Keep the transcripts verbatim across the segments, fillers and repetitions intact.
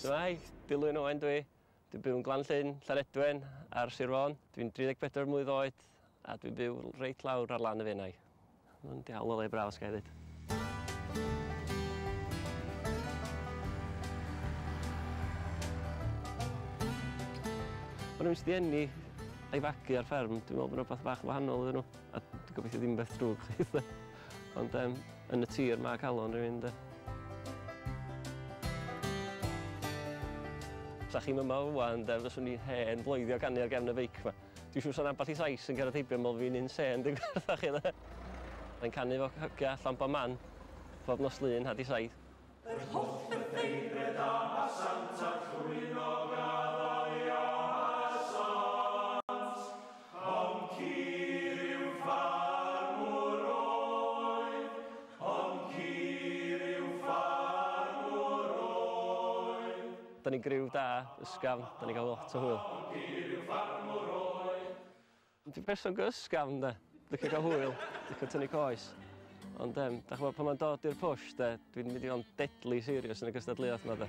Shwmae, Dilwyn Owen dwi. Dwi'n byw yn Glan-llyn, Llanedwen, ar Sir Fôn. Dwi'n dri deg pedwar mlwydd oed a dwi'n byw reit lawr ar lan y Fenai. Mae'n diawl o le braf, os ga i ddweud. Ma' rhywun sydd 'di eni a'i fagu ar fferm, dwi'n meddwl bod rhywbeth bach wahanol iddyn nhw. A dwi'n gobeithio ddim beth drwg chwaith. Ond um, yn y tir mae calon rhywun, de. Sa chi'm yma ŵan, de, fyswn i'n hen floeddio canu ar gefn y beic 'ma. Dwi'n siŵr sa'n ambell i Sais yn cerdded heibio yn meddwl fi'n insane, dwi'n gwrdd chi, de. Mae'n canu efo hogia allan bob man, bob nos Lun, had i saith. Yr hoff bytheingred a sant a llwynog a ddaliasant, ond cur yw ffarmwr oedd, ond cur yw ffarmwr oedd. Da ni'n griw da, ysgafn, da ni'n cael lot o hwyl. Ond cur yw ffarmwr oedd. Dwi'n person go ysgafn, de. Licio cael hwyl, licio tynnu coes. Ond, um, da ch'mod, pan mae'n dod i'r push, de, dwi'n mynd i fod yn deadly serious yn y gystadleuaeth yma, de.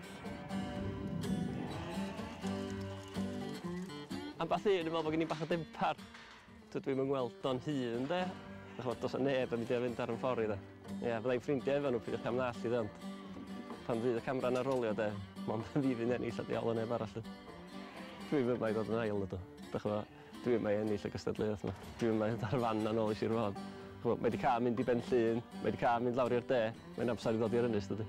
Ambell un yn meddwl bod gen i bach o dempar. Dydw i'm yn gweld o'n hun, de. Da ch'mod, does 'na neb yn mynd i fynd ar yn ffordd i, de. Ie, fydda i'n ffrindiau efo nhw, peidiwch am ddallt i, de, ond pan fydd y camera yna'n rolio, de, mond fi fydd ennill a diawl o neb arall, de. Dwi'm yma i ddod yn ail, ydw. Da ch'mod, dwi yma i ennill y gystadleuaeth yma. Dwi yma i ddod ar fan yn ôl i Sir Fôn. Ch'mod, mae 'di cael mynd i Ben Llŷn, mae 'di cael mynd lawr i'r de, mae'n amser i ddod i'r ynys, dydi?